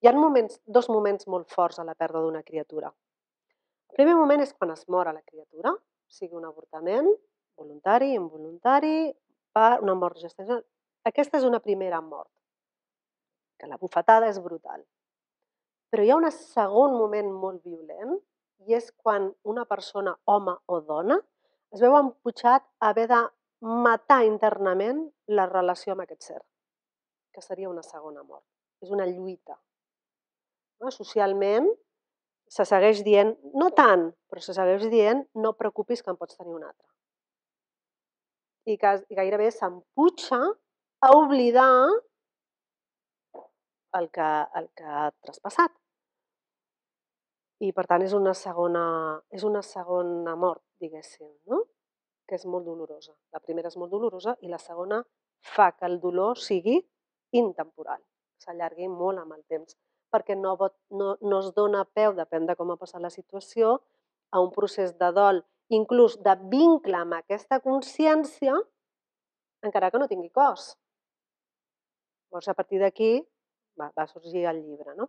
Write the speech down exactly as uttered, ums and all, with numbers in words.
Hi ha moments, dos moments molt forts a la pèrdua d'una criatura. El primer moment és quan es mor a la criatura, sigui un avortament, voluntari, involuntari, per una mort gestacional. Aquesta és una primera mort, que la bufetada és brutal. Però hi ha un segon moment molt violent i és quan una persona, home o dona, es veu emputxat a haver de matar internament la relació amb aquest ser, que seria una segona mort. És una lluita. Socialment se segueix dient, no tant, però se segueix dient no et preocupis que en pots tenir un altre. I gairebé s'emputxa a oblidar el que ha traspassat. I per tant és una segona, és una segona mort, diguéssim, no? Que és molt dolorosa. La primera és molt dolorosa i la segona fa que el dolor sigui intemporal, s'allargui molt amb el temps, perquè no, no, no es dona peu, depèn de com ha passat la situació, a un procés de dol, inclús de vincle amb aquesta consciència, encara que no tingui cos. Llavors, a partir d'aquí va, va sorgir el llibre, no?